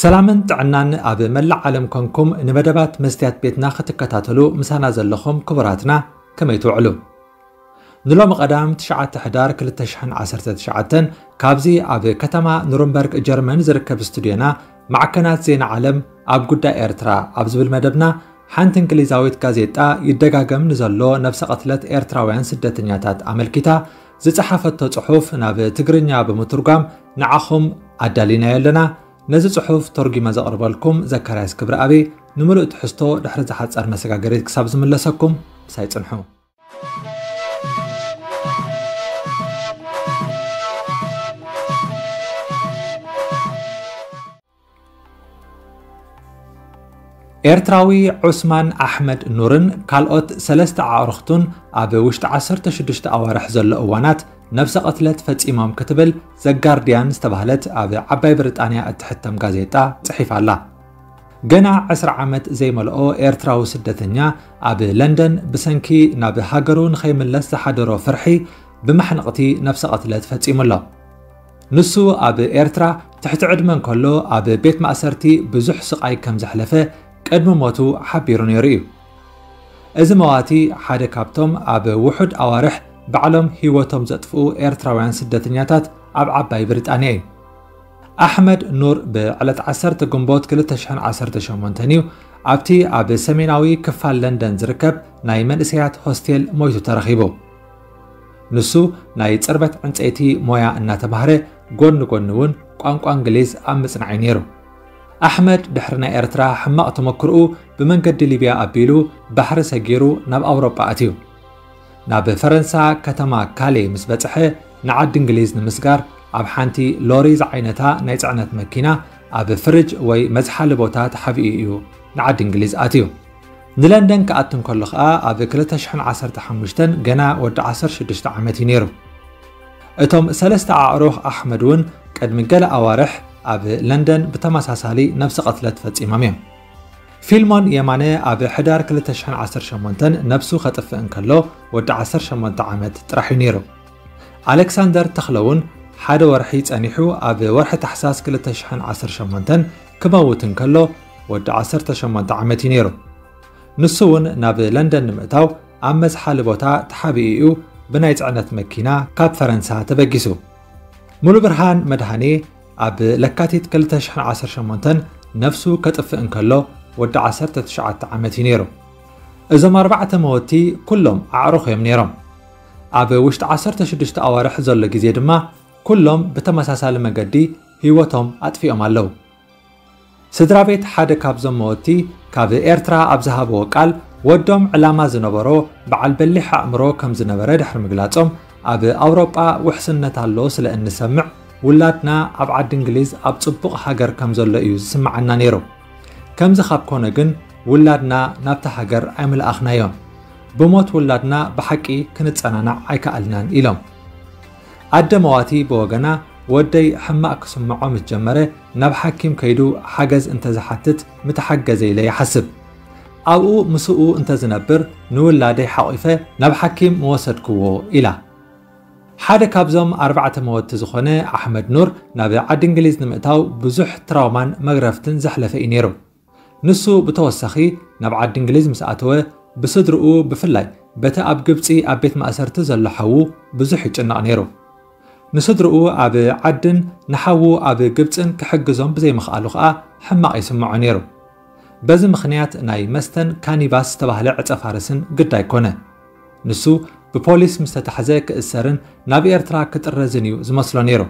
ሰላምን ጥዕናን ኣብ መላእ ዓለም ኮንኩም ንመደባት መስትያት ቤትና ክትከታተሉ ምሳና ዘለኹም ክቡራትና ከመይ ትውዕሉ? ንሎሚ ቀዳም ትሽዓተ ሕዳር ክልተ ሽሕን ዓሰርተ ትሽዓተን ካብዚ ኣብ ከተማ ኑርንበርግ ጀርመን ዝርከብ ስቱድዮና ማዕከናት ዜና ዓለም ኣብ ጉዳይ ኤርትራ ኣብ ዝብል መደብና ሓንቲ እንግሊዛዊት ጋዜጣ ይደጋገም ንዘሎ ነብሰ ቅትለት ኤርትራውያን ስደተኛታት ኣመልኪታ ዝጸሓፈቶ ጽሑፍ ናብ ትግርኛ ብምትርጓም ንዓኹም ኣዳሊናዮ ኣለና። ነዚ ጽሑፍ ተርጒመ ዘቕርበልኩም ዘካርያስ ክብረኣብ፣ ንምሉእ ትሕዝቶ ድሕሪ ዝሓጸር መሰጋገሪት ክሳብ ዝምለሰኩም ምሳይ ጽንሑ። ኤርትራዊ ዑስማን ኣሕመድ ኑርን ካልኦት ሰለስተ ኣዕሩኽቱን ኣብ ውሽጢ ዓሰርተ ሽዱሽተ ኣዋርሕ ዘሎ እዋናት ነብሰ ቅትለት ፈጺሞም ክትብል ዘጋርድያን ዝተባህለት ኣብ ዓባይ ብሪጣንያ እትሕተም ጋዜጣ ጽሒፋ ኣላ። ገና ዕስራ ዓመት ዘይመልኦ ኤርትራዊ ስደተኛ ኣብ ለንደን ብሰንኪ ናብ ሃገሩ ንኸይምለስ ዝሓደሮ ፍርሒ ብማሕነቕቲ ነብሰ ቅትለት ፈጺሙ ኣሎ። ንሱ ኣብ ኤርትራ ትሕቲ ዕድመ እንከሎ ኣብ ቤት ማእሰርቲ ብዙሕ ስቓይ ከም ዘሕለፈ ቅድሚ ሞቱ ሓቢሩ ነይሩ እዩ። እዚ መዋቲ ሓደ ካብቶም ኣብ ውሑድ ኣዋርሕ ባዕሎም ህይወቶም ዘጥፍኡ ኤርትራውያን ስደተኛታት ኣብ ዓባይ ብሪጣንያ እዩ። ኣሕመድ ኑር ብዕለት ዓሰርተ ግንቦት ክልተ ሽሕን ዓሰርተ ሸሞንተን እዩ ኣብቲ ኣብ ሰሜናዊ ክፋል ለንደን ዝርከብ ናይ መንእሰያት ሆስቴል ሞይቱ ተረኺቡ። ንሱ ናይ ጽርበት ዕንጸይቲ ሞያ እናተማህረ ጎኒ ጎኒ እውን ቋንቋ እንግሊዝ ኣብ ምጽናዕ እዩ ነይሩ። ኣሕመድ ድሕሪ ናይ ኤርትራ ሕማቕ ተመክሮኡ ብመንገዲ ሊብያ ኣቢሉ ባሕሪ ሰጊሩ ናብ ኣውሮጳ ኣትዩ። ናብ ፈረንሳ ከተማ ካሌ ምስ በጽሐ ንዓዲ እንግሊዝ ንምስጋር ኣብ ሓንቲ ሎሪ ዝዓይነታ ናይ ጽዕነት መኪና ኣብ ፍርጅ ወይ መዝሓሊ ቦታ ተሓቢኡ እዩ ንዓዲ እንግሊዝ ኣትዩ። ንለንደን ክኣቱ እንከሎ ኸኣ ኣብ ክልተ ሽሕን ዓሰርተ ሓሙሽተን ገና ወዲ ዓሰርተ ሽዱሽተ ዓመት እዩ ነይሩ። እቶም ሰለስተ ኣዕሩኽ ኣሕመድ እውን ቅድሚ ገለ ኣዋርሕ ኣብ ለንደን ብተመሳሳሊ ነብሰ ቅትለት ፈጺሞም እዮም። ፊልሞን የማነ ኣብ ሕዳር ክልተ ሽሕን ዓሰርተ ሸሞንተን ነብሱ ከጥፍእ እንከሎ ወዲ ዓሰርተ ሸሞንተ ዓመት ጥራሕ እዩ ነይሩ። ኣሌክሳንደር ተኽለ እውን ሓደ ወርሒ ጸኒሑ ኣብ ወርሒ ታሕሳስ ክልተ ሽሕን ዓሰርተ ሸሞንተን ክመውት እንከሎ ወዲ ዓሰርተ ሸሞንተ ዓመት እዩ ነይሩ። ንሱ እውን ናብ ለንደን ንምእታው ኣብ መዝሓሊ ቦታ ተሓቢኡ እዩ ብናይ ጽዕነት መኪና ካብ ፈረንሳ ተበጊሱ። ሙሉብርሃን መድሃኔ ኣብ ለካቲት ክልተ ሽሕን ዓሰርተ ሸሞንተን ነፍሱ ከጥፍእ እንከሎ ወዲ ዓሰርተ ትሽዓተ ዓመት እዩ ነይሩ። እዞም ኣርባዕተ መወቲ ኩሎም ኣዕሩኽ እዮም ነይሮም። ኣብ ውሽጢ ዓሰርተ ሽዱሽተ ኣዋርሕ ዘሎ ግዜ ድማ ኩሎም ብተመሳሳሊ መገዲ ህይወቶም ኣጥፊኦም ኣለዉ። ስድራ ቤት ሓደ ካብዞም መወቲ ካብ ኤርትራ ኣብ ዝሃብዎ ቃል ወዶም ዕላማ ዝነበሮ በዓል በሊሕ ኣእምሮ ከም ዝነበረ ድሕሪ ምግላጾም ኣብ ኣውሮጳ ውሕስነት ኣሎ ስለ እንሰምዕ ውላድና ኣብ ዓዲ እንግሊዝ ኣብ ጽቡቕ ሃገር ከም ዘሎ እዩ ዝስምዓና ነይሩ። ከምዚ ካብ ኮነ ግን ውላድና ናብታ ሃገር ኣይምልኣኽናዮን። ብሞት ውላድና ብሓቂ ክንጸናናዕ ኣይከኣልናን ኢሎም። ኣደ መዋቲ ብወገና ወደይ ሕማቕ ክስምዖ ምስ ጀመረ ናብ ሓኪም ከይዱ ሓገዝ እንተዝሓትት ምተሓገዘ ኢለ ይሓስብ። ኣብኡ ምስኡ እንተዝነብር ንውላደይ ሓቒፈ ናብ ሓኪም ምወሰድክዎ ኢላ። ሓደ ካብዞም ኣርባዕተ መወቲ ዝኾነ ኣሕመድ ኑር ናብ ዓዲ እንግሊዝ ንምእታው ብዙሕ ትራውማን መግረፍትን ዘሕለፈ እዩ ነይሩ። ንሱ ብተወሳኺ ናብ ዓዲ እንግሊዝ ምስ ኣተወ ብስድርኡ ብፍላይ በቲ ኣብ ግብጺ ኣብ ቤት ማእሰርቲ ዘሎ ሓዉ ብዙሕ ይጭነቕ ነይሩ። ንስድርኡ ኣብ ዓድን ንሓዉ ኣብ ግብጽን ክሕግዞም ብዘይምኽኣሉ ኸኣ ሕማቕ ይስምዖ ነይሩ። በዚ ምኽንያት ናይ መስተን ካኒባስ ዝተባህለ ዕጸ ፋርስን ግዳይ ኮነ። ንሱ ብፖሊስ ምስ ተታሕዘ ክእሰርን ናብ ኤርትራ ክጥረዝን እዩ ዝመስሎ ነይሩ።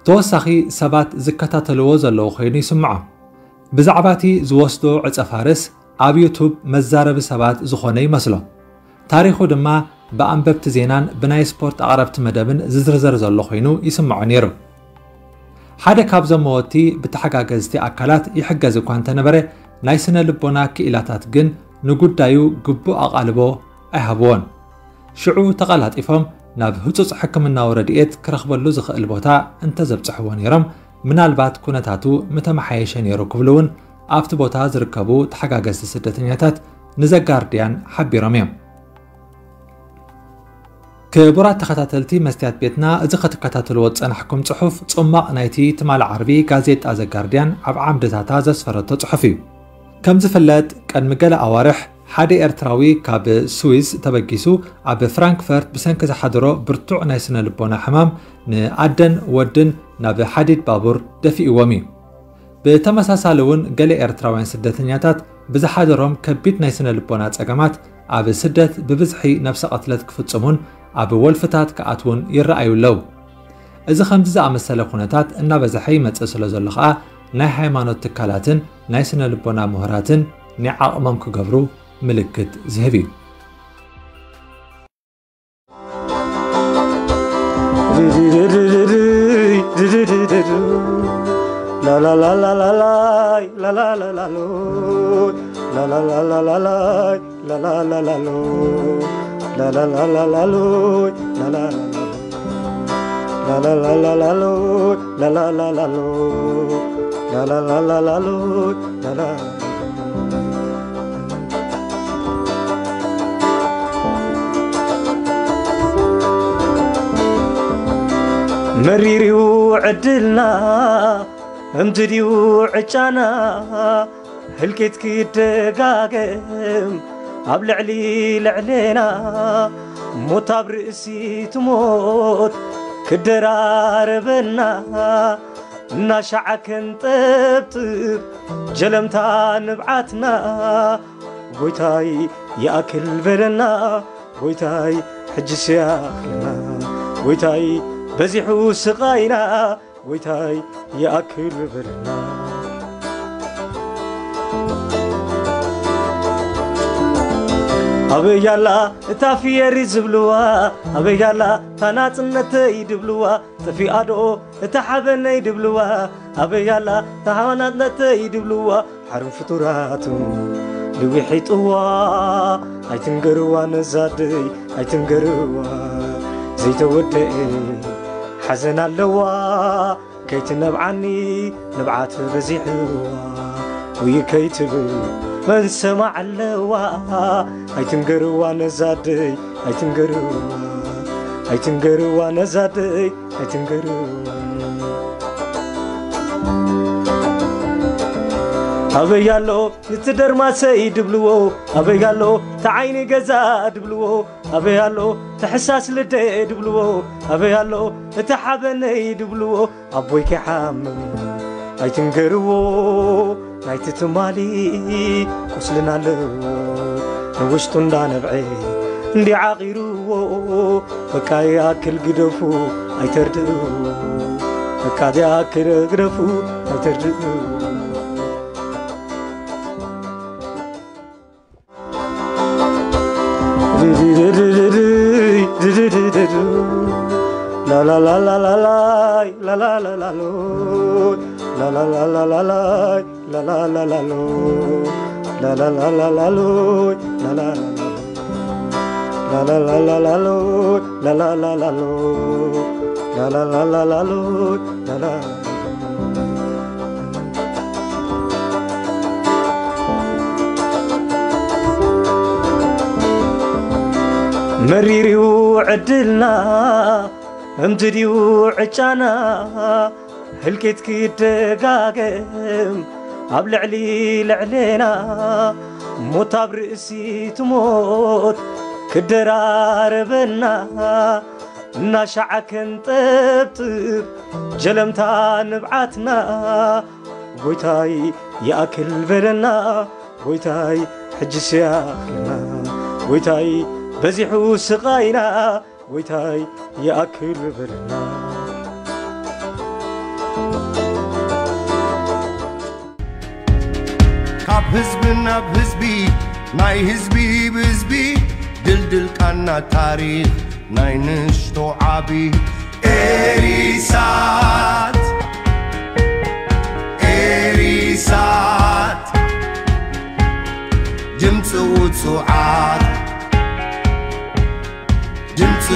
ተወሳኺ ሰባት ዝከታተልዎ ዘለዉ ኮይኑ ይስምዖ። ብዛዕባ እቲ ዝወስዶ ዕጸ ፋርስ ኣብ ዩቱብ መዛረቢ ሰባት ዝኾነ ይመስሎ። ታሪኹ ድማ ብኣንበብቲ ዜናን ብናይ ስፖርት ኣቕረብቲ መደብን ዝዝርዘር ዘሎ ኮይኑ ይስምዖ ነይሩ። ሓደ ካብዞም መወቲ ብተሓጋገዝቲ ኣካላት ይሕገዝ እኳ እንተነበረ ናይ ስነ ልቦና ክኢላታት ግን ንጉዳዩ ግቡእ ኣቓልቦ ኣይሃብዎን። ሽዑ ተቐላጢፎም ናብ ህጹጽ ሕክምናዊ ረድኤት ክረኽበሉ ዝኽእል ቦታ እንተዘብጽሕዎ ነይሮም ምናልባት ኩነታቱ ምተመሓየሸ ነይሩ ክብሉ እውን ኣብቲ ቦታ ዝርከቡ ተሓጋገዝቲ ስደተኛታት ንዘጋርድያን ሓቢሮም እዮም። ክቡራት ተኸታተልቲ መስትያት ቤትና፣ እዚ ክትከታተልዎ ዝጸናሕኩም ጽሑፍ ጽማቕ ናይቲ ትማሊ ዓርቢ ጋዜጣ ዘጋርድያን ኣብ ዓምድታታ ዘስፈረቶ ጽሑፍ እዩ። ከም ዝፍለጥ፣ ቅድሚ ገለ ኣዋርሕ ሓደ ኤርትራዊ ካብ ስዊዝ ተበጊሱ ኣብ ፍራንክፈርት ብሰንኪ ዝሓደሮ ብርቱዕ ናይ ስነ ልቦና ሕማም ንኣደን ወድን ናብ ሓዲድ ባቡር ደፊእዎም እዩ። ብተመሳሳሊ እውን ገለ ኤርትራውያን ስደተኛታት ብዝሓደሮም ከቢድ ናይ ስነ ልቦና ጸገማት ኣብ ስደት ብብዝሒ ነብሰ ቅትለት ክፍጽሙን ኣብ ወልፍታት ክኣትዉን ይረኣዩ ኣለዉ። እዚ ከምዚ ዝኣመሰለ ኩነታት እናበዝሐ ይመጽእ ስለ ዘሎ ኸኣ ናይ ሃይማኖት ትካላትን ናይ ስነ ልቦና ምሁራትን ናይ ዓቕሞም ክገብሩ ምልክት ዝህብ እዩ። መሪርዩ ዕድልና፣ እምቲ ድዩ ዕጫና? ህልቂት ክደጋገም ኣብ ልዕሊ ልዕሌና፣ ሞት ኣብ ርእሲ ትሞት ክደራረበና፣ እናሻዕ ከንጠብጥብ ጀለምታ ንብዓትና። ጎይታይ ይኣክል በለና፣ ጎይታይ ሕጂ ስያኽልና፣ ጎይታይ በዚሑ ስቓይና፣ ጎይታይ ይኣክል በለና። ኣበይ ኣላ እታ ፍየሪ ዝብልዋ፣ ኣበይ ኣላ እታ ናጽነተይ ድብልዋ፣ ጠፊኣ ዶ እታ ሓበነይ ድብልዋ፣ ኣበይ ኣላ እታ ሓበናጽነተይ ድብልዋ፣ ሓሩን ፍጡራቱ ልዊሒጥዋ። ኣይትንገርዋ ነዛደይ ኣይትንገርዋ፣ ዘይተወደኤ ሓዘን ኣለዋ። ከይትነብዓኒ ንብዓት በዚሕዋ፣ ውይ ከይትብል መን ሰማዕ ኣለዋ። ኣይትንገርዋ ነዛደይ ኣይትንገርዋ፣ ኣይትንገርዋ ነዛደይ ኣይትንገርዋ። ኣበይ ኣሎ ንቲ ደርማሰይ ድብልዎ፣ ኣበይ ኣሎ ተዓይኒ ገዛ ድብልዎ፣ ኣበይ ኣሎ ተሕሳስ ልደ ድብልዎ፣ ኣበይ ኣሎ እቲ ሓበነይ ድብልዎ። ኣቦይ ከይሓምም ኣይትንገርዎ፣ ናይቲ ትማሊ ቁስልና ኣለዎ፣ ንውሽጡ እንዳነብዐ እንዲ ዓቒርዎ። በቃ ይኣክል ግደፉ ኣይተርድእዎ፣ በቃ ይኣክል ግደፉ ኣይተርድእዎ። መሪርዩ ዕድልና፣ እምቲ ድዩ ዕጫና? ህልቂት ክደጋገም ኣብ ልዕሊ ልዕሌና፣ ሞት ኣብ ርእሲ ትሞት ክደራረበና፣ እናሻዕ ከንጠብጥብ ጀለምታ ንብዓትና። ጎይታይ ይኣክል በለና፣ ጎይታይ ሕጂ ስያኽልና፣ ጎይታይ በዚሑ ስቓይና፣ ጎይታይ ይኣክል በለና። ካብ ህዝቢ ናብ ህዝቢ፣ ናይ ህዝቢ ብህዝቢ፣ ድልድል ቃና ታሪኽ ናይ ንሽቶ ዓቢ። ኤሪሳት፣ ኤሪሳት፣ ድምፂ ውፁዓት፣ ድምፂ